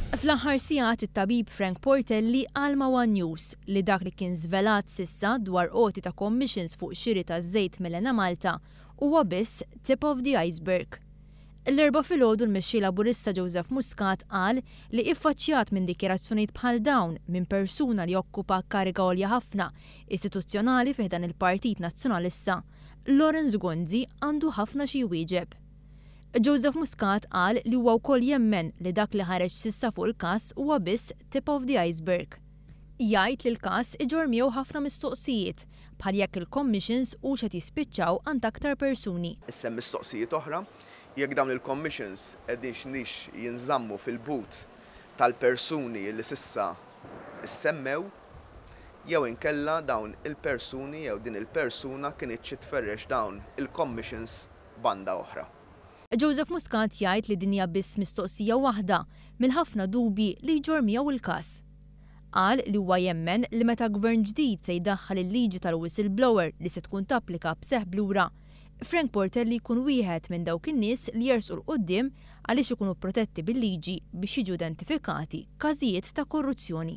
Fl-aħħar sigħat it-tabib Frank Portelli qal ma' one News li dak li kien żvelat s'issa dwar għoti ta' commissions fuq xiri ta' żejt mill-Enemalta huwa biss tip of the iceberg. L-Erbgħa filgħodu l-Mexxej Laburista Joseph Muscat qal li iffaċċjat minn dikjarazzjonijiet bħal dawn minn persuna li jokkupa kariga għolja ħafna istituzzjonali fi ħdan il-Partit Nazzjonalista, Lawrence Gonzi għandu ħafna xi jwieġeb. Joseph Muscat qal li huwa wkoll jemmen li dak li ħareġ s'issa fuq il-każ huwa biss tip of the iceberg. Jgħid li l-każ iġorr miegħu ħafna mistoqsijiet, bħal jekk il-commissions hux qed jispiċċaw għand aktar persuni. Issa hemm mistoqsijiet oħra, jekk dawn il-commissions qegħdinx jinżammu fil-but tal-persuni li s'issa ssemmew, jew inkella dawn il-persuni jew din il-persuna kinitx tferrex dawn il-commissions banda oħra. Joseph Muscat jgħid li din hija biss mistoqsija waħda mill-ħafna dubji li jġorr miegħu il-każ. Qal li huwa jemmen li meta gvern ġdid se jdaħħal il-liġi tal-whistleblower li se tkun tapplika b'seħħ b'lura, Frank Portelli jkun wieħed minn dawk in-nies li jersqu 'l quddiem għaliex ikunu protetti bil-liġi biex jiġu identifikati każijiet ta' korruzzjoni.